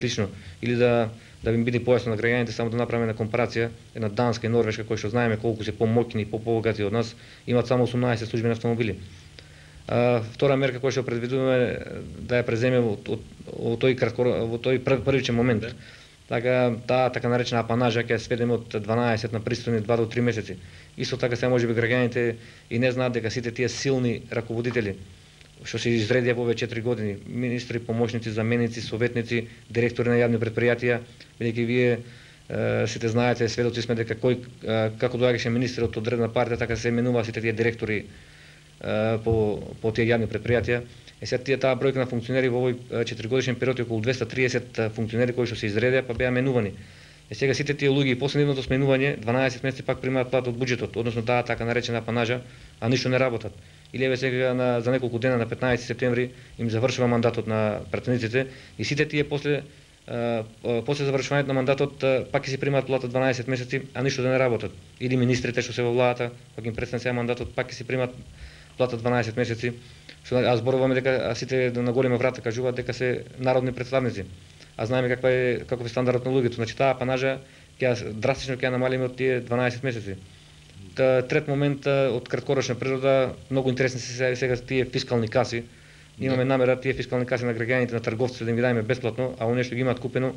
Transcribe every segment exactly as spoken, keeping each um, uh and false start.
слично, или да да би биде појасно на граѓаните, само да направиме на компарација, една Данска и Норвешка, кои што знаеме колку се помоќни и побогати од нас, имаат само осумнаесет службени автомобили. А, втора мерка која што предвидуваме да ја преземе во, во тој кратко во тој прв, првичен момент. Да. Така таа така наречена апанажа ќе сведеме од дванаесет на пристојни два до три месеци. Исто така се можеби граѓаните и не знаат дека сите тие силни раководители што се изредија во овие четири години, министри, помошници, заменици, советници, директори на јавни предпријатија, бидејќи вие е, сите знаете, сведоци сме дека кој е, како доаѓаше министер од одредна партија, така се именуваа сите тие директори е, по по тие јавни предпријатија. Е сега тие таа бројка на функционери во овој четиригодишен период е околу двеста триесет функционери кои што се изредија па беа менувани. Е сега сите тие луѓе и после нивното сменување дванаесет месеци пак примаат плата од буџетот, односно таа така наречена апанажа, а ништо не работат. Или еве сега на, за неколку дена на петнаесети септември им завршува мандатот на пратениците и сите тие после а, после завршувањето на мандатот а, пак ќе си примаат плата дванаесет месеци, а ништо да не работат. Или министрите што се во владата, пак им престане сега мандатот, пак ќе си примаат плата дванаесет месеци. Што а зборуваме дека а сите на голема врата кажуваат дека се народни представници. А знаеме каква е каков е стандардот на луѓето. Значи таа апанажа ќе драстично ќе намалиме од тие дванаесет месеци. Трет момент од краткорочна природа, многу интересни се сега тие фискални каси. Имаме намера тие фискални каси на граѓаните, на трговците да им ги дајме бесплатно, а оние што ги имаат купено,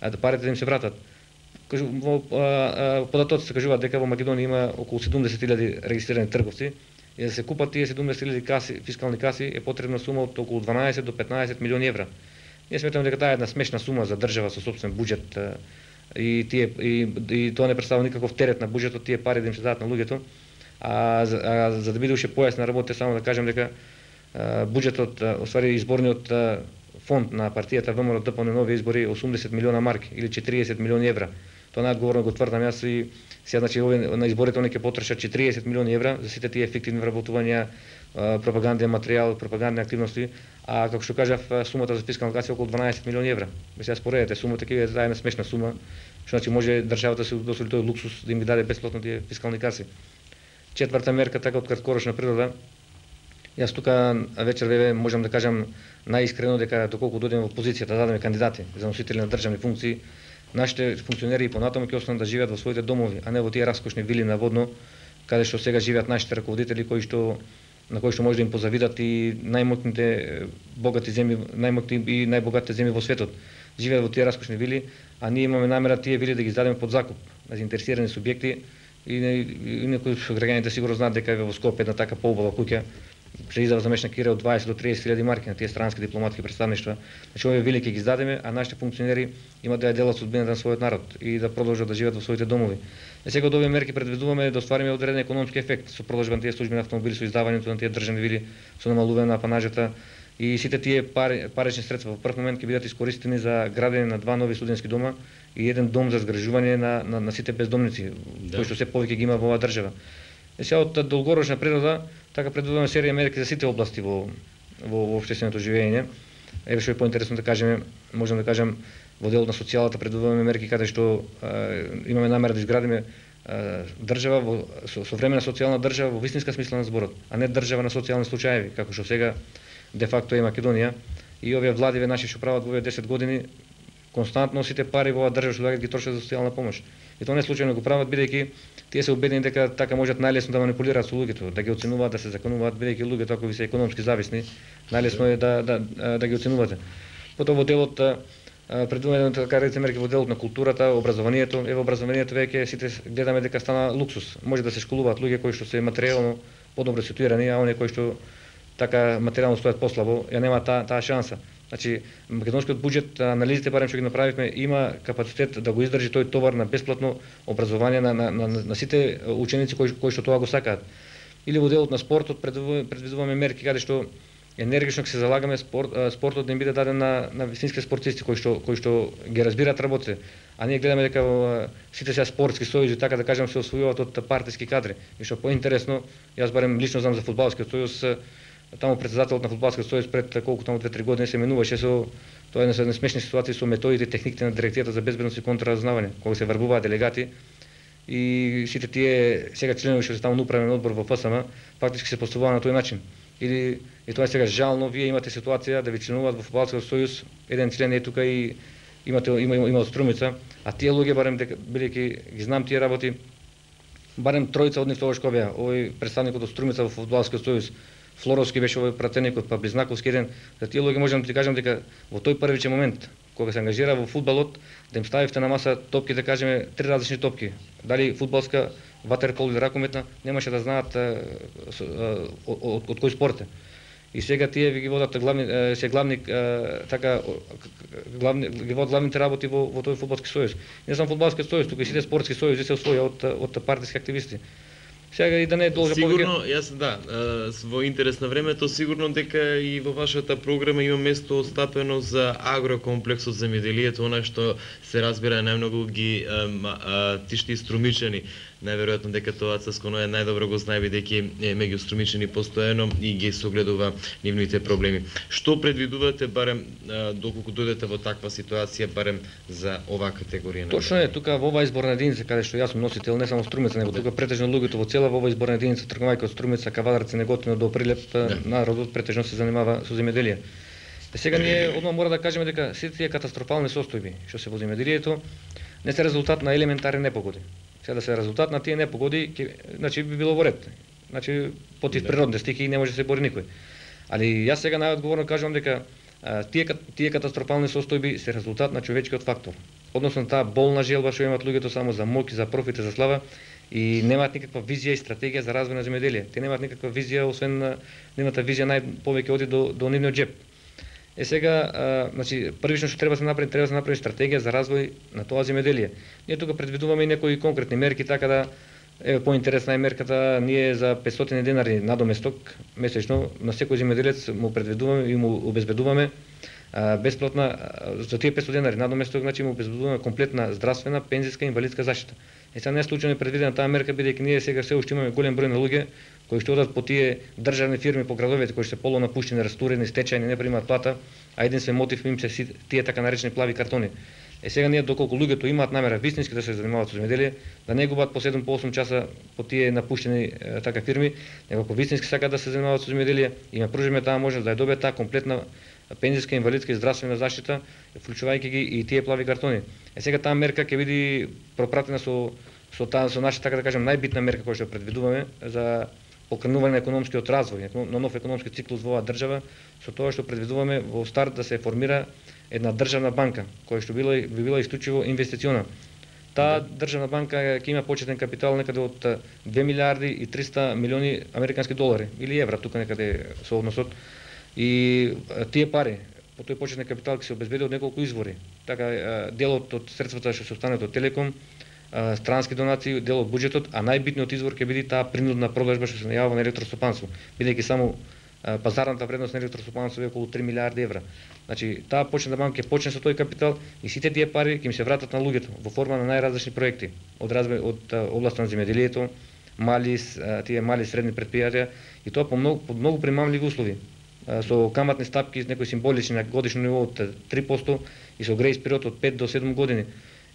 да парите да им се вратат. Во податоците кажуваат дека во Македонија има околу седумдесет илјади регистрирани трговци и да се купат тие седумдесет илјади каси, фискални каси е потребна сума од околу дванаесет до петнаесет милиони евра. Ние сметаме дека таа е една смешна сума за држава со сопствен буџет и тие и, и тоа не представува никаков терет на буџетот, тие пари да им се дадат на луѓето. А, а за да биде уште појасна работа, само да кажем дека а, буџетот, освари изборниот а, фонд на партијата ВМРО ДП на нови избори осумдесет милиона марки или четириесет милиони евра. Тоа најодговорно го тврдам јас и сега значи овие на изборите они ќе потрошат четириесет милиони евра за сите тие ефективни вработувања, пропаганден материјал, пропагандни активности, а како што кажав, сумата за фискална каса е околу дванаесет милиони евра. Ве сега споредете сумата, ќе е една смешна сума, што значи може државата да се дозволи тој луксус да им ги даде бесплатно тие фискални каси. Четврта мерка така од краткорочна природа. Јас тука вечер ве можам да кажам најискрено дека доколку дојдеме во позицијата да дадеме кандидати за носители на државни функции, нашите функционери и понатаму ќе останат да живеат во своите домови, а не во тие раскошни вили на Водно, каде што сега живеат нашите раководители кои што на кои што може да им позавидат и најмоќните богати земји, најмоќни и најбогатите земји во светот. Живеат во тие раскошни вили, а ние имаме намера тие вили да ги издадеме под закуп на заинтересирани субјекти и, и, и некои граѓаните сигурно знаат дека е во Скопје една така поубава куќа се издава за мешна кира од дваесет до триесет илјади марки на тие странски дипломатски представништва. Значи овие вили ќе ги издадеме, а нашите функционери имаат да ја делат судбината на својот народ и да продолжат да живеат во своите домови. И сега од овие мерки предвидуваме да оствариме одреден економски ефект со продолжба на тие службени автомобили, со издавањето на тие државни вили, со намалување на апанажата и сите тие пари, парични средства во прв момент ќе бидат искористени за градење на два нови студентски дома и еден дом за згрижување на, на, на сите бездомници, да, кои што се повеќе ги има во оваа држава. И сега од долгорочна природа така предвидуваме серија мерки за сите области во во, во општественото живење. Еве што е поинтересно да кажеме, можам да кажам во делот на социјалата предвидуваме мерки каде што е, имаме намера да изградиме е, држава во со, современа социјална држава во вистинска смисла на зборот, а не држава на социјални случаеви, како што сега де факто е Македонија. И овие владиве наши што прават во овие десет години константно сите пари во оваа држава што доаѓаат ги трошат за социјална помош. И тоа не случајно го прават бидејќи тие се убедени дека така можат најлесно да манипулираат со луѓето, да ги оценуваат, да се законуваат, бидејќи луѓето ако ви се економски зависни, најлесно е да да да ги оценувате. Потоа во делот предвидуваме така речените мерки во делот на културата, образованието. Еве образованието веќе сите гледаме дека стана луксус. Може да се школуваат луѓе кои што се материјално подобро ситуирани, а оние кои што така материјално стојат послабо, ја нема таа таа шанса. Значи, македонскиот буџет, анализите барем што ги направивме, има капацитет да го издржи тој товар на бесплатно образование на, на, на, на сите ученици кои, кои што тоа го сакаат. Или во делот на спортот предвидуваме мерки каде што енергично ќе се залагаме спорт, спортот да им биде даден на, на вистински спортисти кои што кои што ги разбираат работите. А ние гледаме дека сите сега спортски сојузи, така да кажам, се освојуваат од партиски кадри. И што поинтересно, јас барем лично знам за фудбалскиот сојуз, таму председателот на фудбалскиот сојуз пред колку таму две-три години се менуваше со тоа е една смешни ситуации со методите и техниките на директивата за безбедност и контраразузнавање, кога се врбуваат делегати и сите тие сега членови што се таму на управен одбор во ФСМ фактички се поставуваат на тој начин. Или и тоа е сега жално, вие имате ситуација да ви членуваат во фудбалскиот сојуз, еден член е тука и имате има има од Струмица, а тие луѓе барем дека бидејќи ги знам тие работи, барем тројца од нив тогаш кога беа, овој представникот од Струмица во Фудбалскиот сојуз, Флоровски беше овој пратеникот, па Близнаковски еден, за тие луѓе можам да ти кажам дека во тој првичен момент кога се ангажира во фудбалот, да им ставивте на маса топки, да кажеме три различни топки, дали фудбалска, ватерпол или ракометна, немаше да знаат од, од кој спорт е. И сега тие ви ги водат главни се главни така главни ги водат главните работи во во тој фудбалски сојуз. Не само фудбалскиот сојуз, туку и сите спортски сојузи се освоја од од партиски активисти. Сега и да не должа сигурно, повеќе... јас да, во интерес на времето, сигурно дека и во вашата програма има место остапено за агрокомплексот земјоделието, она што се разбира најмногу ги а, а, тишти струмичани. Најверојатно дека тоа Цаско е најдобро го знае, бидејќи е меѓу струмичани постојано и ги согледува нивните проблеми. Што предвидувате барем а, доколку дојдете во таква ситуација барем за оваа категорија? Точно е, тука во оваа изборна единица каде што јас сум носител, не само Струмица, него тука претежно луѓето во цела во оваа изборна единица, тргнувајќи од Струмица, Кавадарци, Неготино до Прилеп, да. Народот претежно се занимава со земјоделие. И сега ние одма мора да кажеме дека сите тие катастрофални состојби што се во земјоделието не се резултат на елементарни непогоди. Сега да се резултат на тие непогоди, ке, значи би било во ред. Значи против природни стихии не може да се бори никој. Али јас сега најодговорно кажувам дека а, тие тие катастрофални состојби се резултат на човечкиот фактор. Односно таа болна желба што имаат луѓето само за моќ, за профит, за слава и немаат никаква визија и стратегија за развој на земјоделие. Те немаат никаква визија, освен нивната визија најповеќе оди до до нивниот џеп. Е сега, а, значи, првично што треба да се направи, треба да се направи стратегија за развој на тоа земјоделие. Ние тука предвидуваме и некои конкретни мерки, така да еве поинтересна е мерката, ние за петстотини денари надоместок месечно на секој земјоделец му предвидуваме и му обезбедуваме а, бесплатна а, за тие петстотини денари надоместок, значи му обезбедуваме комплетна здравствена, пензиска и инвалидска заштита. И сега не е случајно предвидена таа мерка, бидејќи ние сега се уште имаме голем број на луѓе кои што одат по тие државни фирми по градовите, кои што се полонапуштени, растурени, стечајни, не примаат плата, а единствен мотив им се тие така наречени плави картони. Е сега ние доколку луѓето имаат намера вистински да се занимаваат со земјоделие, да не губат по седум по осум часа по тие напуштени е, така фирми, него ако вистински сакаат да се занимаваат со земјоделие, им пружиме таа можност да ја добијат таа комплетна пензиска, инвалидска и здравствена заштита, вклучувајќи ги и тие плави картони. Е сега таа мерка ќе биде пропратена со со таа со наша така да кажем најбитна мерка која што предвидуваме за покренување на економскиот развој, на нов економски циклус во оваа држава, со тоа што предвидуваме во старт да се формира една државна банка, која што била би била исклучиво инвестициона. Таа државна банка ќе има почетен капитал некаде од две милиарди и триста милиони американски долари или евра, тука некаде со односот. И тие пари по тој почетен капитал ќе се обезбеди од неколку извори. Така делот од средствата што се останат од Телеком, странски донации, дел од буџетот, а најбитниот извор ќе биде таа принудна продажба што се најавува на електростопанство, бидејќи само пазарната вредност на електростопанство е околу три милиарди евра. Значи, таа почетна банка ќе почне со тој капитал и сите тие пари ќе им се вратат на луѓето во форма на најразлични проекти, од развој од областа на земјоделието, мали тие мали и средни претпријатија и тоа по многу по многу примамливи услови, со каматни стапки некои символични на годишно ниво од три проценти и со грејс период од пет до седум години.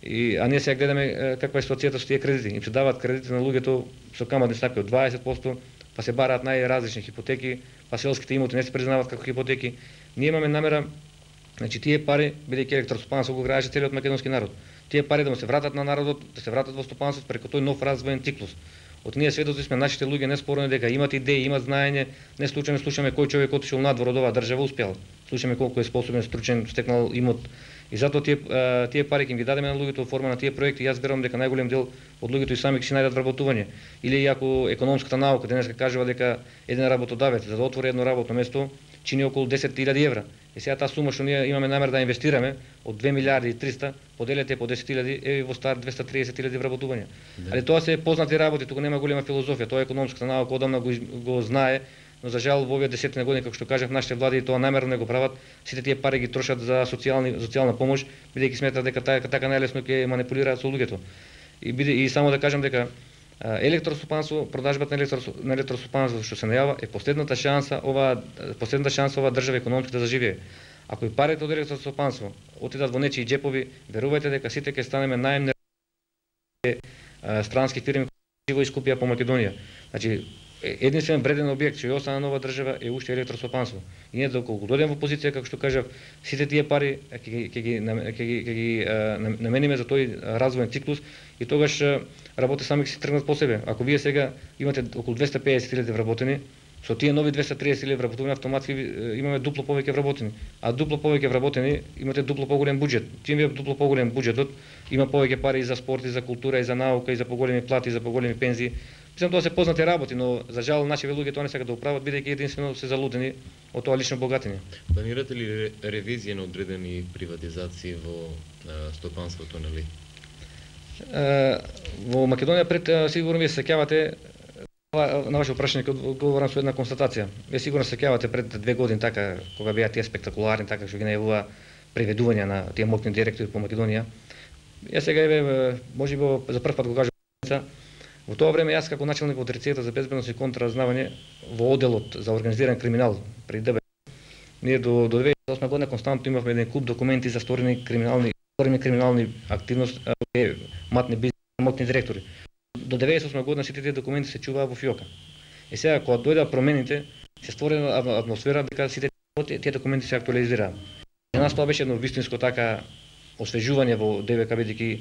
И, а ние сега гледаме каква е ситуацијата со тие кредити. Им се даваат кредити на луѓето со каматни стапки од дваесет проценти, па се бараат најразлични хипотеки, па селските имоти не се признаваат како хипотеки. Ние имаме намера, значи тие пари, бидејќи електростопанство го граеше целиот македонски народ, тие пари да му се вратат на народот, да се вратат во стопанството преку тој нов развоен циклус. Од ние сведоци сме, нашите луѓе не спорно дека имат идеи, имат знаење, не случајно слушаме кој човек отишол надвор од оваа држава успеал. Слушаме колку е способен, стручен, стекнал имот. И затоа тие тие пари ќе ги дадеме на луѓето во форма на тие проекти. Јас верувам дека најголем дел од луѓето и сами ќе си најдат вработување. Или ако економската наука денеска кажува дека еден работодавец за да отвори едно работно место чини околу десет илјади евра. И сега таа сума што ние имаме намер да инвестираме од две милиарди и триста, поделете по десет илјади, е во старт двеста триесет илјади вработувања. Да. Али тоа се познати работи, туку нема голема филозофија, тоа економската наука одамна го, го знае, но за жал во овие десетина години, како што кажав, нашите влади тоа намерно не го прават, сите тие пари ги трошат за социјални социјална помош, бидејќи сметат дека така, така најлесно ќе манипулираат со луѓето. И биде и само да кажам дека електростопанство, продажбата на, електро, на електростопанство што се најава е последната шанса ова последната шанса ова држава економски да заживее. Ако и парите од електростопанство отидат во нечии џепови, верувајте дека сите ќе станеме најемни странски фирми кои го искупија по Македонија. Значи единствен вреден објект што ја остана нова држава е уште електросопанство. И ние доколку дојдеме во позиција, како што кажав, сите тие пари ќе ќе ги ќе ги ќе ги намениме за тој развоен циклус и тогаш работите сами ќе се тргнат по себе. Ако вие сега имате околу двеста и песет илјади вработени, со тие нови двеста и триесет илјади вработени автоматски имаме дупло повеќе вработени. А дупло повеќе вработени имате дупло поголем буџет. Чим е дупло поголем буџетот, има повеќе пари и за спорт, и за култура, и за наука, и за поголеми плати, и за поголеми пензии. Мислам тоа се познати работи, но за жал нашите луѓе тоа не сакаат да управат, бидејќи единствено се залудени од тоа лично богатење. Планирате ли ревизија на одредени приватизации во стопанството, нели? Во Македонија пред сигурно вие се сеќавате на ваше прашање ќе одговорам со една констатација. Вие сигурно се сеќавате пред две години така кога беа тие спектакуларни така што ги најавува преведувања на тие моќни директори по Македонија. Ја сега еве можеби за прв пат го кажам. Во тоа време јас како начелник во Дирекцијата за безбедност и контраразузнавање во одделот за организиран криминал при ДБ, ние до до две тисечи и осма година константно имавме еден куп документи за сторени криминални сторени криминални активности, матни бизнес, моќни директори. До деветдесет и осма година сите тие документи се чуваа во фиока. И сега кога дојдоа промените, се створи атмосфера дека сите тие документи се актуализираа. За нас тоа беше едно вистинско така освежување во ДВК, бидејќи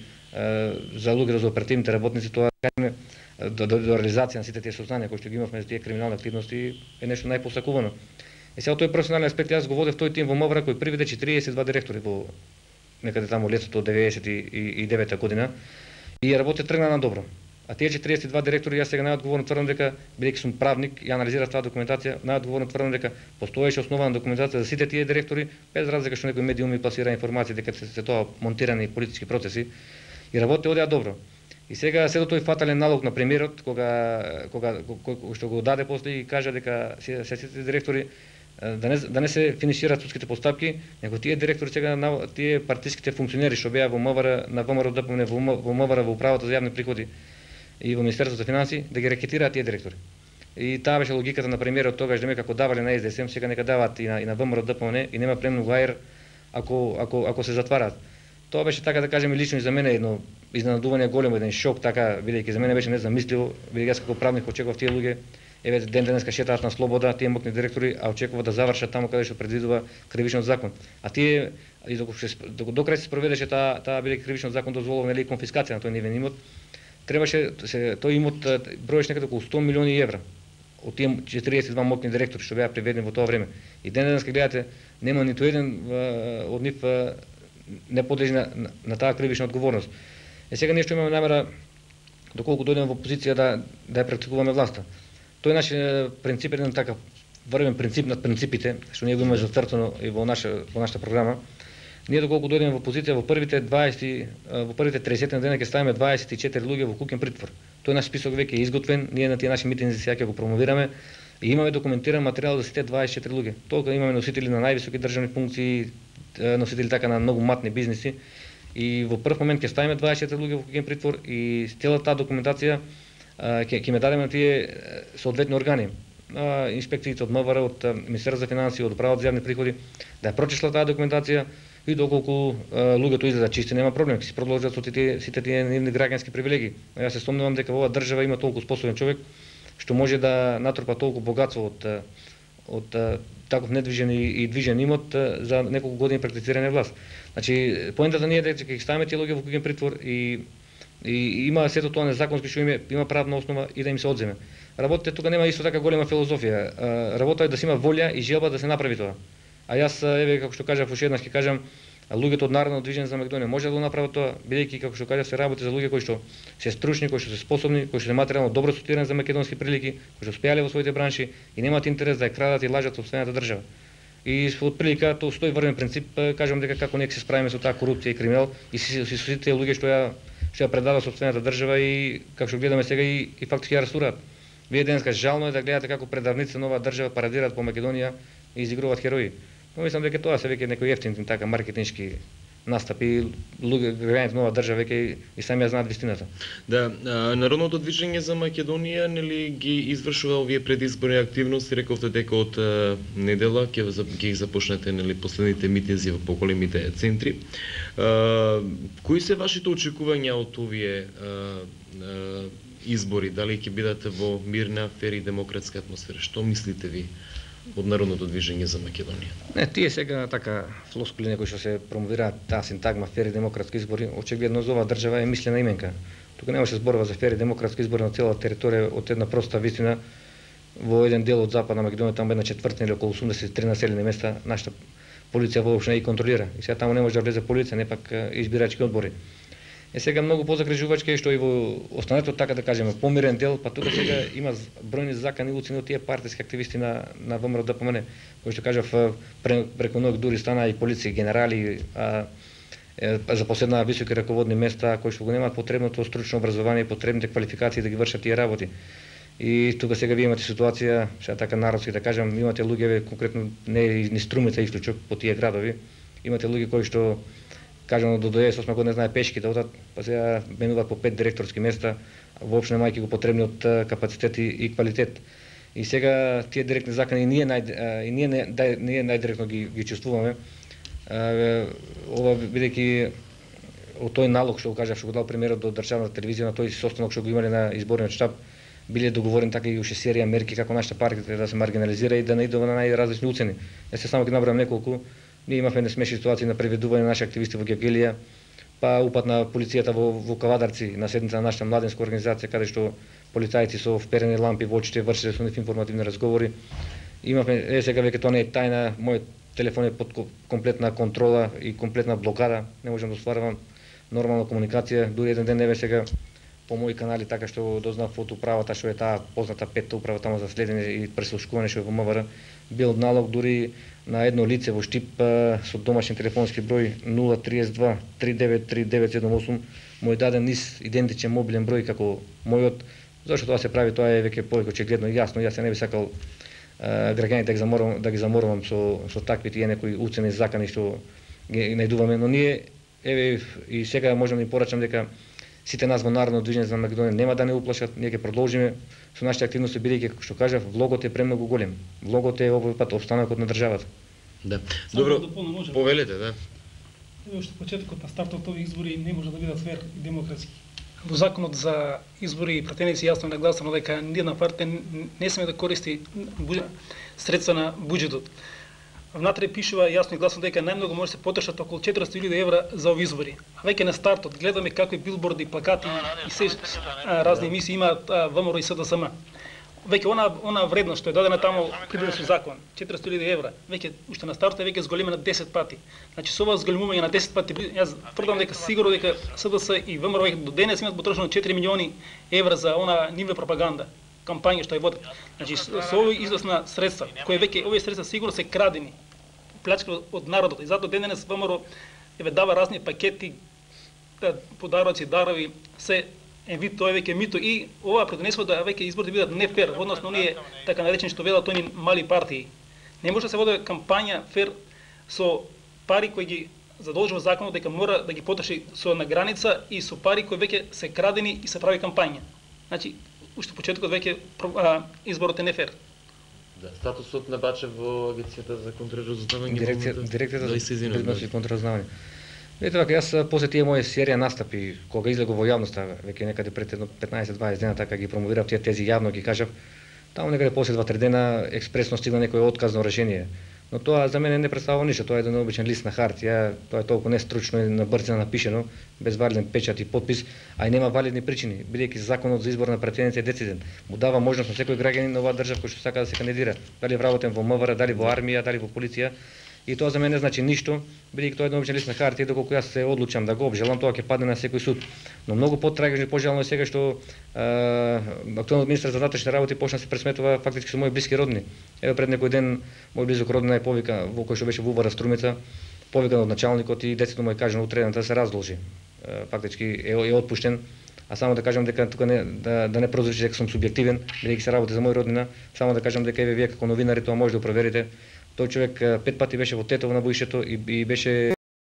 за луѓето за оперативните работници тоа кажеме до, до, до реализација на сите тие сознања кои што ги имавме за тие криминални активности е нешто најпосакувано. И сега тој професионален аспект јас го водев тој тим во МВР кој приведе четириесет и два директори во некаде таму летото деветдесет и девета година и работи тргна на добро. А тие четириесет и два директори, јас сега најодговорно тврдам дека, бидејќи сум правник и анализирав таа документација, најодговорно тврдам дека постоеше основана документација за сите тие директори, без разлика што некој медиуми пласира информација дека се, се тоа монтирани политички процеси и работите одеа добро. И сега се до тој фатален налог на премиерот кога кога кој што го даде после и кажа дека се сите директори да не да не се финишираат судските постапки, него тие директори сега тие партиските функционери што беа во МВР на ВМРО ДПМН во МВР во управата за јавни приходи и во Министерството за финансии да ги рекетираат тие директори. И таа беше логиката на премиерот тогаш, дека како давале на СДСМ, сега нека даваат и на и на ВМРО ДПМН и нема премногу аер ако ако ако се затвараат. Тоа беше така да кажеме лично и за мене едно изненадување големо, еден шок така, бидејќи за мене беше незамисливо, бидејќи јас како правник очекував тие луѓе еве ден денеска шетаат на слобода, тие моќни директори, а очекува да завршат таму каде што предвидува кривичниот закон. А тие и доколку се докрај се спроведеше таа таа бидејќи кривичниот закон дозволува нели конфискација на тој нивен имот, требаше се тој имот броеше некаде околу сто милиони евра од тие четириесет и два моќни директори што беа приведени во тоа време. И ден денеска гледате нема ниту еден од нив не подлежи на, на, на таа кривична одговорност. Е сега ние што имаме намера доколку дојдеме во позиција да да ја практикуваме власта. Тој наш принцип е еден такав врвен принцип над принципите што ние го имаме зацртано и во наша во нашата програма. Ние доколку дојдеме во позиција во првите дваесет во првите триесет дена ќе ставиме дваесет и четири луѓе во куќен притвор. Тој наш список веќе е изготвен, ние на тие наши митинзи сега ќе го промовираме и имаме документиран материјал за сите дваесет и четири луѓе. Толку имаме носители на највисоки државни функции, носители така на многу матни бизниси и во прв момент ќе ставиме дваесет и четири луѓе во куќен притвор и целата таа документација ќе ќе ме дадеме на тие соодветни органи, инспекциите од МВР, од Министерството за финансии, од Управата за јавни приходи, да ја прочишлат таа документација и доколку луѓето излезат чисти, нема проблем, ќе се продолжат со тие сите тие нивни граѓански привилегии. Јас се спомнувам дека во оваа држава има толку способен човек што може да натрупа толку богатство од од таков недвижен и, и движен имот за неколку години практицирање власт. Значи, поентата ние е дека ќе ставиме тие луѓе во куќен притвор и и има сето тоа незаконски што има има правна основа и да им се одземе. Работите тука нема исто така голема филозофија. Работа е да се има волја и желба да се направи тоа. А јас еве како што кажав уште еднаш ќе кажам, луѓето од Народно движење за Македонија може да го направат тоа, бидејќи како што кажав се работи за луѓе кои што се стручни, кои што се способни, кои што се материјално добро ситуирани за македонски прилики, кои што успеале во своите бранши и немаат интерес да ја крадат и лажат сопствената држава. И од прилика тоа стои врвен принцип, кажам дека како ние ќе се справиме со таа корупција и криминал и со сите луѓе што ја што ја предава сопствената држава и како што гледаме сега и, и фактички ја растураат. Вие денеска жално е да гледате како предавници на оваа држава парадираат по Македонија и изигруваат херои. Но мислам дека тоа се веќе некои ефтин така маркетиншки настапи, луѓе граѓаните на оваа држава веќе и сами ја знаат вистината. Да, Народното движење за Македонија нели ги извршува овие предизборни активности, рековте дека од недела ќе ги започнете нели последните митинзи во поголемите центри. А, кои се вашите очекувања од овие а, а, избори, дали ќе бидете во мирна, фер и демократска атмосфера? Што мислите ви од Народното движење за Македонија? Не, тие сега така флоскули некои што се промовираат таа синтагма фер и демократски избори, очигледно за оваа држава е мислена именка. Тука не може зборува за фер и демократски избори на цела територија од една проста вистина. Во еден дел од Западна Македонија, таму една четвртина или околу осумдесет и три населени места, нашата полиција воопшто не ги контролира. И сега таму не може да влезе полиција, не пак избирачки одбори. Е сега многу позагрижувачки е што и во останатото, така да кажеме, помирен дел, па тука сега има бројни закани уцени од тие партиски активисти на на ВМРО ДПМН, кои што кажав преку ноќ дури стана и полиција, генерали, а, е, запоседнаа високи раководни места кои што го немаат потребното стручно образование и потребните квалификации да ги вршат тие работи. И тука сега вие имате ситуација, сега така народски да кажам, имате луѓе конкретно не ни Струмица исклучок по тие градови, имате луѓе кои што кажано до деветдесет и осма година знае пешки да одат, па сега менуваат по пет директорски места, воопшто немајќи го потребниот капацитет и, и квалитет. И сега тие директни закани ние нај и ние не дај, ние најдиректно ги ги чувствуваме. Ова бидејќи од тој налог што го кажав, што го дал премиерот до државната телевизија, на тој состанок што го имале на изборниот штаб, биле договорени така и уште серија мерки како нашата партија да се маргинализира и да не иде на најразлични уцени. Јас се само ги набрам неколку. Ние имавме несмешни ситуации на приведување на наши активисти во Гевгелија, па упат на полицијата во, во Кавадарци, на седница на нашата младенска организација, каде што полицајци со вперени лампи во очите вршеле со нив информативни разговори. Имавме, е сега веќе тоа не е тајна, мојот телефон е под комплетна контрола и комплетна блокада, не можам да остварувам нормална комуникација, дури еден ден еве сега по мои канали така што дознав од управата што е таа позната петта управа таму за следење и преслушкување што е во МВР, бил налог дури на едно лице во Штип со домашен телефонски број нула триесет два три девет три девет седум осум, мој даден низ идентичен мобилен број како мојот. Зошто тоа се прави, тоа е веќе повеќе очигледно и јасно. Јас не би сакал граѓаните да ги заморувам, да ги заморувам со со такви тие некои уцени закани што ги најдуваме, но ние еве и сега можам да им порачам дека сите нас во Народно движење за Македонија нема да не уплашат, ние ќе продолжиме со нашите активности, бидејќи како што кажав, влогот е премногу голем. Влогот е овој пат опстанокот на државата. Да. Добро, повелете, да. Еве уште почетокот на стартот овие избори не може да бидат фер и демократски. Во законот за избори пратеници јасно нагласено дека ниедна партија не сме да користи средства на буџетот. Внатре пишува јасно и гласно дека најмногу може да се потрошат околу четиристотини илјади евра за овие избори. А веќе на стартот гледаме какви билборди, плакати и се а, разни емисии имаат ВМРО и СДСМ. Веќе она она вредност што е дадена таму предвидена со закон, четиристотини илјади евра, веќе уште на стартот е веќе зголемена десет пати. Значи со ова зголемување на десет пати, јас тврдам дека сигурно дека СДС и ВМРО веќе до денес имаат потрошено четири милиони евра за она нивна пропаганда, кампања што ја водат. Значи со овој износ на средства, кои веќе овие средства сигурно се крадени, плячка од народот. И затоа денес ВМРО еве дава разни пакети, подароци, дарови, се е вид тоа веќе мито и ова предонесува да веќе изборите бидат нефер, односно оние така наречени што велат они мали партии. Не може да се води кампања фер со пари кои ги задолжува законот дека мора да ги потроши со на граница и со пари кои веќе се крадени и се прави кампања. Значи уште почетокот веќе изборот е нефер. Да, статусот на Бачев во Агенцијата за контраразузнавање. Дирекција, дирекцијата за безбедност и контраразузнавање. Видите вака, јас после тие мои серија настапи, кога излегов во јавноста, веќе некаде пред едно петнаесет-дваесет дена така ги промовирав тие тези јавно ги кажав, таму некаде после два-три дена експресно стигна некој отказно решение. Но тоа за мене не представува ништо, тоа е еден обичен лист на хартија, тоа е толку нестручно и на брзина напишено, без валиден печат и подпис, а и нема валидни причини, бидејќи законот за избор на пратеници е дециден. Му дава можност на секој граѓанин на оваа држава кој што сака да се кандидира, дали вработен во МВР, дали во армија, дали во полиција. И тоа за мене не значи ништо, бидејќи тоа е еден обичен лист на хартија, доколку јас се одлучам да го обжалам, тоа ќе падне на секој суд. Но многу потрагично и пожалено е сега што актуелниот министер за внатрешни работи почна да се пресметува фактички со мои блиски родни. Еве пред некој ден мој близок роднина е повика во кој што беше во Увара Струмица, повикан од началникот и децето му е кажано утре да се раздолжи. Фактички е, е отпуштен. А само да кажам дека тука не да, да не прозвучи дека сум субјективен, бидејќи се работи за мој роднина, само да кажам дека еве вие како новинари тоа може да проверите. Тој човек пет пати беше во Тетово на боишето и, и беше